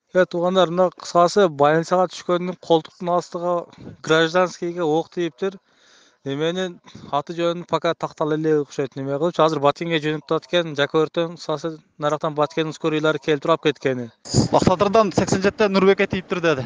Туугандар, мына кыскасы больницага түшкөндүн колтуктун астыга гражданскийге ок тийиптир. Эменин аты жөнүн пока тактала элек окшойт. Неме кылчу азыр Баткенге жөнүп атат экен. Жакөртөң кыскасы нарактан Баткендин скорийлары келип туруп алып кеткени. Бактадырдан 87 Нурбекке тийиптир деди.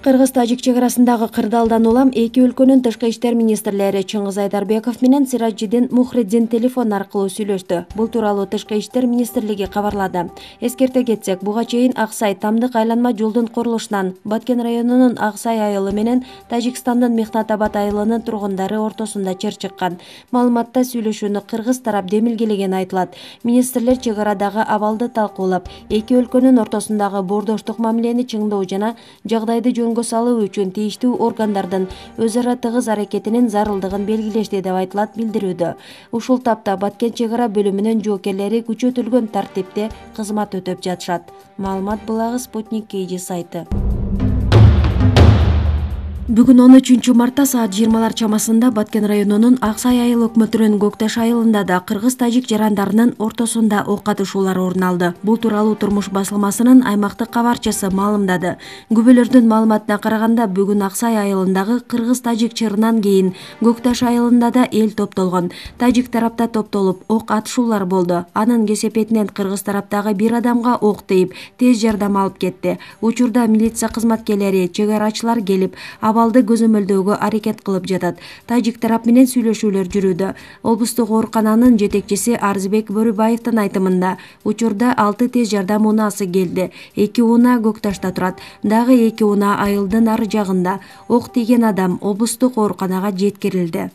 Кыргыз-тажик чек арасындагы кырдаалдан улам эки өлкөнүн тышкы иштер министрлери Чыңгыз Айдарбеков менен Сиражиддин Мухриддин телефон аркылуу сүйлөштү. Бул тууралуу тышкы иштер министрлиги кабарлады. Эскерте кетсек, буга чейин Аксай Тамдык айланма жолдун курулушунан Баткен районунун Аксай айылы менен Тажикстандын Мехнатабад айылынын тургундары ортосунда чыр чыккан. Маалыматта сүйлөшүүнү кыргыз тарап демилгелегени айтылат. Министрлер чек арадагы абалды талкуулап, эки өлкөнүн ортосундагы боордоштук мамилени чыңдоо жана жагдайды салуу үчүн тийиштүү органдардын өз ара тыгыз аракетинин зарылдыгын белгилешти деп айтылат билдирүүдө. Ушул тапта Баткен чек ара бөлүмүнүн жоокерлери күчөтүлгөн тартипте кызмат өтөп жатышат. Маалымат булагы Спутник KG сайты. Бүгүн 13 мартта саат 20 чамасында Баткен районунун Аксай айыл өкмөтүнүн Көкташ айылында да кыргыз-тажик жарандарынын ортосунда ок атышуулар орун алды. Бул тууралуу Турмуш басылмасынын аймактык кабарчысы маалымдады. Күбөлөрдүн маалыматына караганда, бүгүн Аксай айылындагы кыргыз-тажик чырынан кийин Көкташ айылында да эл топтолгон. Тажик тарапта топтолуп ок атышуулар болду. Анын кесепетинен кыргыз тараптагы бир адамга ок тийип, тез жардам алып кетти. Учурда милиция кызматкерлери, чек арачылар келип, абалды көзөмөлдөөгө аракет кылып жатат. Тажик тарап менен сүйлөшүүлөр жүрүүдө. Облустук оорукананын жетекчиси Арзбек Бөрүбаевдин айтымында, учурда 6 тез жардам унаасы келди. 2 унаа Көкташта турат. Дагы 2 унаа айылдын ары жагында. Ок тийген адам облустук ооруканага жеткирилди.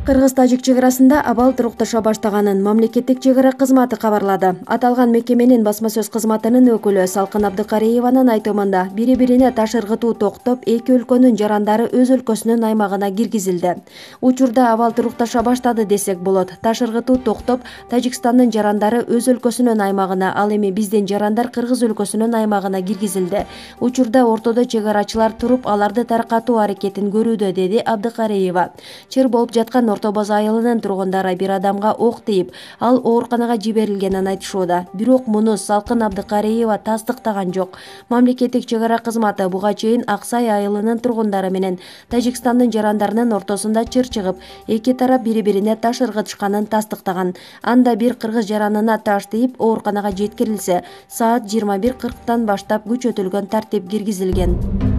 Кыргыз-тажик чек арасында абал турукташа баштаганын мамлекеттик чек ара кызматы кабарлады. Аталган мекеменин басма сөз кызматынын өкүлү Салкын Абдыкариеванын айтымында, бири-бирине таш ыргытуу токтоп, эки өлкөнүн жарандары өз өлкөсүнүн аймагына киргизилди. Учурда абал турукташа баштады десек болот. Таш ыргытуу токтоп, Тажикстандын жарандары өз өлкөсүнүн аймагына, ал эми биздин жарандар Кыргыз өлкөсүнүн аймагына киргизилди. Учурда ортодо чек арачылар туруп, аларды таркатуу аракетин көрүүдө, деди Абдыкариева. Чыр болуп жаткан Орто База айылынын тургундары бир адамга ок тийип, ал ооруканага жиберилгенин айтышууда. Бирок муну Салкын Абдыкариева тастыктаган жок. Мамлекеттик чек ара кызматы буга чейин Аксай айылынын тургундары менен Тажикстандын жарандарынын ортосунда чыр чыгып, эки тарап бири-бирине таш ыргытышканын тастыктаган. Анда бир кыргыз жаранына таш тийип, ооруканага жеткирилсе, саат 21:40 баштап күчөтүлгөн тартип киргизилген.